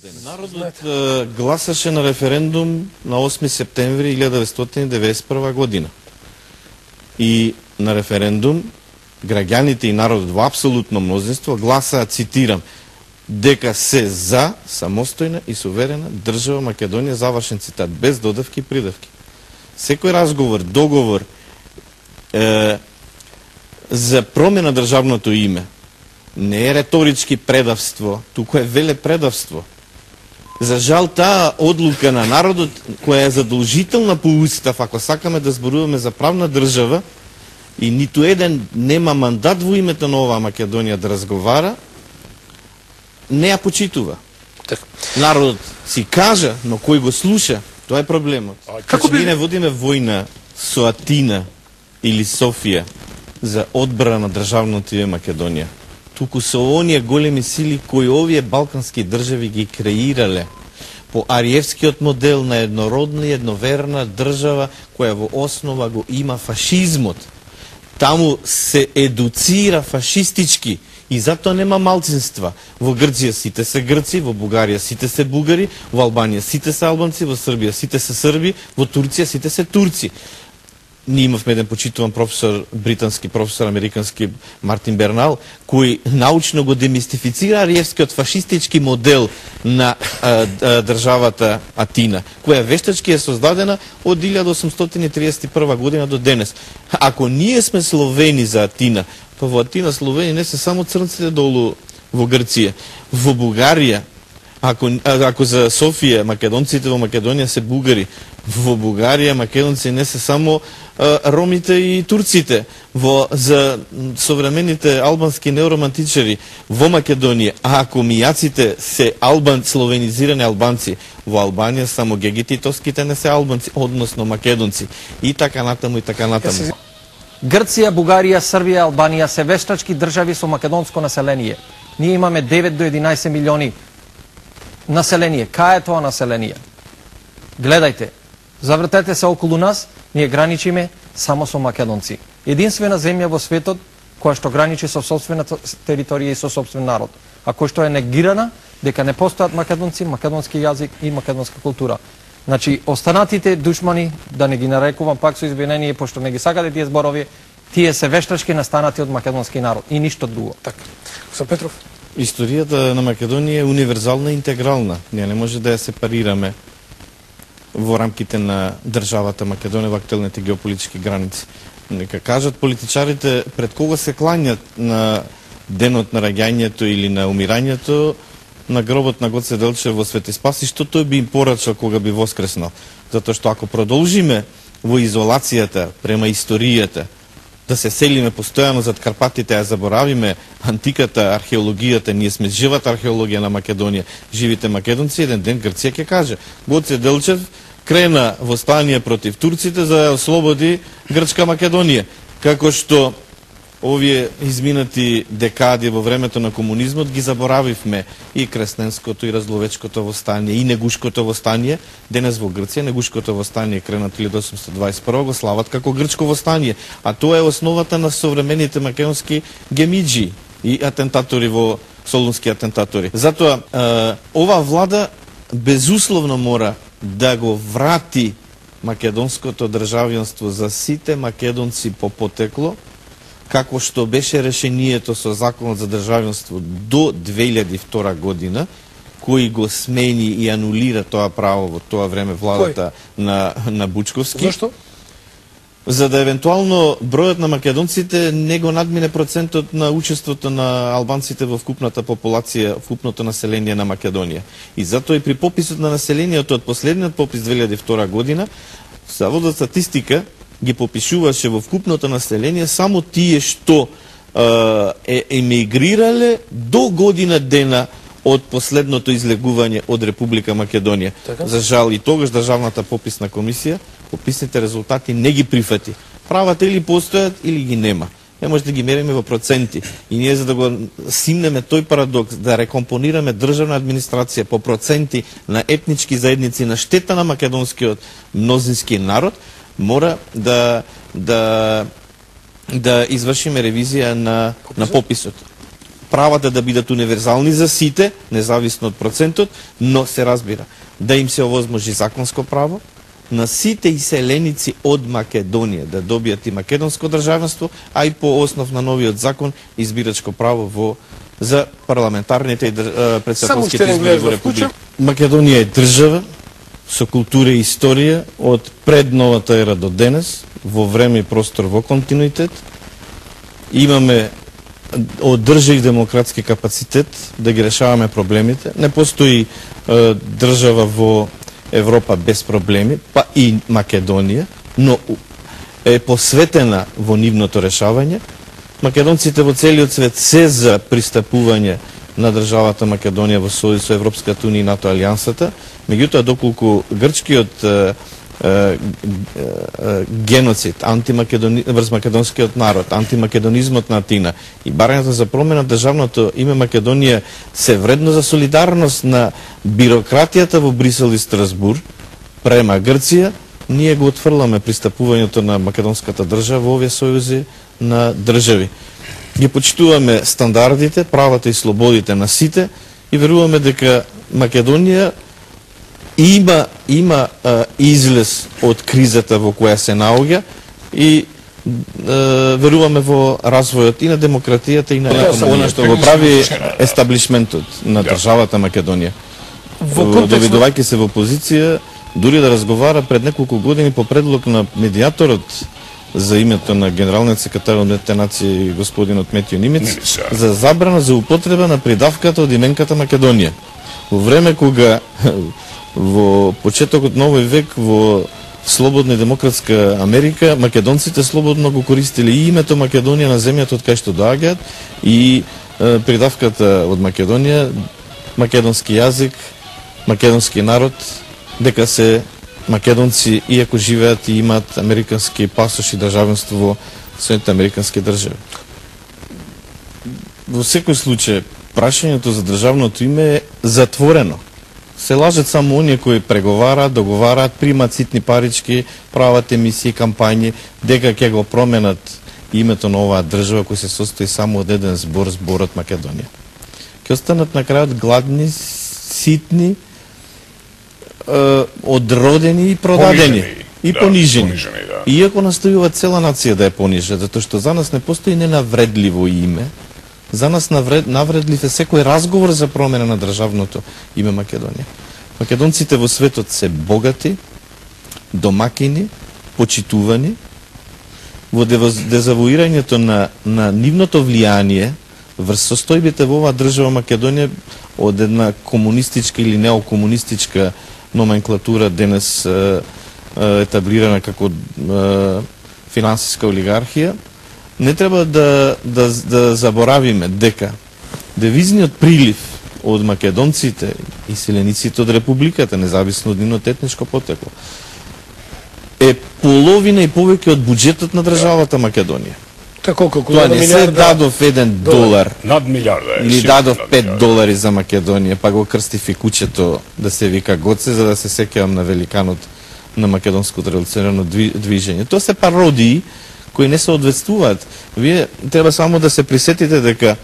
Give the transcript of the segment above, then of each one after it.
Народот гласаше на референдум на 8 септември 1991 година. И на референдум граѓаните и народот во апсолутно мнозинство гласаа, цитирам, дека се за самостојна и суверена држава Македонија, завршен цитат, без додавки и придавки. Секој разговор, договор за промена државното име не е реторички предавство, туку е веле предавство. За жал, таа одлука на народот, која е задолжителна по устав, ако сакаме да зборуваме за правна држава, и ниту еден нема мандат во името на оваа Македонија да разговара, не ја почитува. Народот си кажа, но кој го слуша, тоа е проблемот. Како би не водиме војна со Атина или Софија за одбрана на државното име Македонија, туку со оние големи сили кои овие балкански држави ги креирале по ариевскиот модел на еднородна и едноверна држава која во основа го има фашизмот. Таму се едуцира фашистички и затоа нема малцинства. Во Грција сите се грци, во Бугарија сите се бугари, во Албанија сите се албанци, во Србија сите се срби, во Турција сите се турци. Ние имавме еден почитуван професор, британски професор, американски, Мартин Бернал, кој научно го демистифицира ариевскиот фашистички модел на државата Атина, која вештачки е создадена од 1831 година до денес. Ако ние сме словени за Атина, па во Атина словени не се само црнците долу во Грција, во Бугарија, ако за Софија македонците во Македонија се бугари, во Бугарија македонци не се само ромите и турците, за современите албански неоромантичари во Македонија, а ако мијаците се словенизирани албанци, во Албанија само гегите и тоските не се албанци, односно македонци, и така натаму, и така натаму. Грција, Бугарија, Србија, Албанија се вештачки држави со македонско население. Ние имаме 9 до 11 милиони население. Кај е тоа население? Гледајте, завртете се околу нас, ние граничиме само со македонци. Единствена земја во светот која што граничи со собствената територија и со собствен народ, а која што е негирана дека не постојат македонци, македонски јазик и македонска култура. Значи, останатите душмани, да не ги нарекувам пак со извинение, пошто не ги сакате тие зборови, тие се вештачки настанати од македонски народ и ништо друго. Така. Со Петров? Историјата на Македонија е универзална и интегрална. Ние не може да ја сепарираме во рамките на државата Македонија во актуелните геополитички граници. Нека кажат политичарите пред кого се кланјат на денот на раѓањето или на умирањето на гробот на Гоце Делчев во Свети Спаси, што тој би им порачал кога би воскреснал. Затоа што ако продолжиме во изолацијата према историјата, да се селиме постојано зад Карпатите, а заборавиме антиката, археологијата, ние сме живата археологија на Македонија, живите македонци, еден ден Грција ќе каже, Гоце Делчев крена востание против турците за да ослободи Грчка Македонија, како што овие изминати декади во времето на комунизмот ги заборавивме и Кресненското, и Разловечкото востание, и Негушкото востание. Денес во Грција Негушкото востание кренат 1821 го слават како Грчко востание, а тоа е основата на современите македонски гемиджи и атентатори во Солунски атентатори. Затоа ова влада безусловно мора да го врати македонското државјанство за сите македонци по потекло, како што беше решението со Законот за државјанство до 2002 година, кој го смени и анулира тоа право во тоа време владата на Бучковски. Зашто? За да евентуално бројот на македонците не го надмине процентот на учеството на албанците во вкупната популација, вкупното население на Македонија. И затоа и при пописот на населението од последниот попис 2002 година, Заводот за статистика ги попишуваше во вкупното население само тие што емигрирале до година дена од последното излегување од Република Македонија. Така? За жал и тогаш државната пописна комисија пописните резултати не ги прифати. Правата или постојат или ги нема. Не може да ги мериме во проценти. И ние за да го симнеме тој парадокс, да рекомпонираме државна администрација по проценти на етнички заедници на штета на македонскиот мнозински народ, мора да извршиме ревизија на пописот. правата да бидат универзални за сите, независно од процентот, но се разбира да им се овозможи законско право на сите иселеници од Македонија да добијат и македонско државенство, а и по основ на новиот закон избирачко право за парламентарните и претседателските избори во Република. Македонија е држава со култура и историја од пред новата ера до денес, во време и простор во континуитет. Имаме одржив демократски капацитет да ги решаваме проблемите. Не постои држава во Европа без проблеми, па и Македонија, но е посветена во нивното решавање. Македонците во целиот свет се за пристапување на државата Македонија во сојуз со Европската унија и НАТО алијансата, меѓутоа доколку грчкиот геноцид врз македонскиот народ, антимакедонизмот на Атина и барањето за промена државното име Македонија се вредно за солидарност на бирократијата во Брисел и Страсбур према Грција, ние го отфрламе пристапувањето на македонската држава во овие сојузи на држави. Ги почитуваме стандардите, правата и слободите на сите и веруваме дека Македонија има излез од кризата во која се наоѓа и веруваме во развојот и на демократијата и на она што го прави естаблишментот на државата Македонија. Доведувајќи се во позиција дури да разговара пред неколку години по предлог на медијаторот за името на генералниот секретар од Уединетите нации господинот Метјо Нимец за забрана за употреба на придавката од именката Македонија. Во време кога во почетокот на овој век во слободна и демократска Америка македонците слободно го користеле и името Македонија на земјата од кај што доаѓаат и придавката од Македонија, македонски јазик, македонски народ, дека се македонци иако живеат и имаат американски пасош и државенство во Соединетите американски држави. Во секој случај прашањето за државното име е затворено. Се лажат само оние кои преговараат, договараат, примат ситни парички, прават емисии, кампањи, дека ќе го променат името на оваа држава кој се состои само од еден збор, зборот Македонија. Ќе останат на крајот гладни, ситни, одродени и продадени и понижени. Да. Иако настојува цела нација да е понижа, затоа што за нас не постои ненавредливо име. За нас навредлив е секој разговор за промена на државното име Македонија. Македонците во светот се богати, домакини, почитувани. Во дезавуирањето на нивното влијание врз состојбите во оваа држава Македонија од една комунистичка или неокомунистичка номенклатура денес етаблирана како финансиска олигархија, не треба да заборавиме дека девизниот прилив од македонците и селениците од републиката, независно од нивното етничко потекло, е половина и повеќе од буџетот на државата Македонија. Тоа не се дадов $1 над милиарда или дадов $5 за Македонија, па го крстив и куќето да се вика Гоце, за да се сеќавам на великанот на македонското револуционарно движење. Тоа се пародии кои не соодветствуваат. Вие треба само да се присетите дека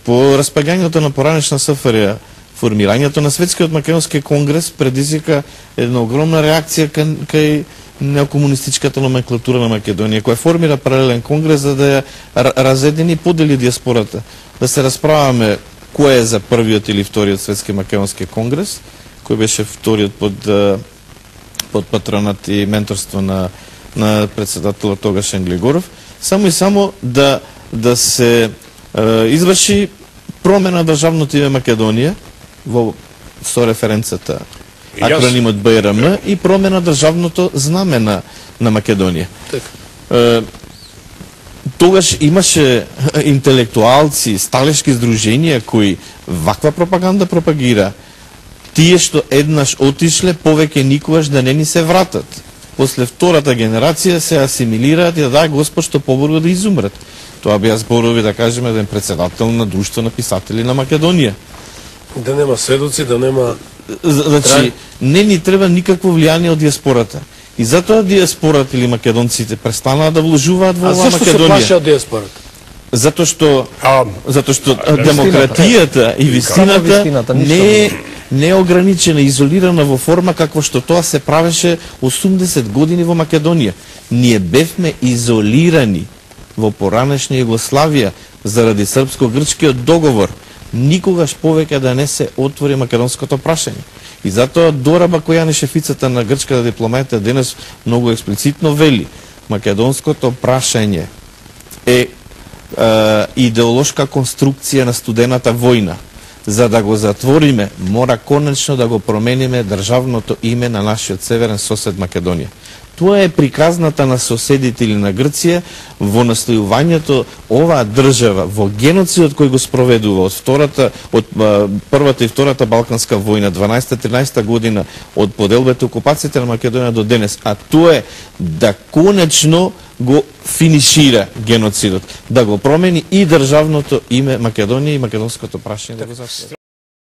по распаѓањето на поранешна СФРЈ, формирањето на Светскиот македонски конгрес предизвика една огромна реакција кај неокомунистичката номенклатура на Македонија, која формира паралелен конгрес за да ја разедини и подели диаспората. Да се расправаме кој е за првиот или вториот Светски македонски конгрес, кој беше вториот под патронат и менторство на председателот тогаш Глигоров, само и само да се изврши промена на државното име Македонија со референцата акронимот БРМ и промена државното знаме на Македонија. Тогаш имаше интелектуалци, сталешки здруженија кои ваква пропаганда пропагира. Тие што еднаш отишле, повеќе никогаш да не ни се вратат. После втората генерација се асимилираат и да дај Господ што поборго да изумрат. Тоа беа зборови, да кажеме, еден председател на Друштво на писатели на Македонија. Да нема сведоци, да нема... Значи, не ни треба никакво влијание од диаспората. И затоа диаспората или македонците престанаа да вложуваат во оваа Македонија. А зашто се плашат диаспората? Затоа што А, демократијата и вистината вистината не е ограничена, изолирана во форма како што тоа се правеше 80 години во Македонија. Ние бевме изолирани во поранешна Југославија заради српско-грчкиот договор. Никогаш повеќе да не се отвори македонското прашање. И затоа Дораба Којане, шефицата на грчката дипломатија, денес многу експлицитно вели: македонското прашање е идеолошка конструкција на студената војна. За да го затвориме, мора конечно да го промениме државното име на нашиот северен сосед Македонија. Тоа е приказната на соседите или на Грција во настојувањето оваа држава во геноцидот кој го спроведува од првата и втората Балканска војна 12-13 година, од поделбата и окупацијата на Македонија до денес, а тоа е да конечно го финишира геноцидот, да го промени и државното име Македонија и македонското прашање да го затвори.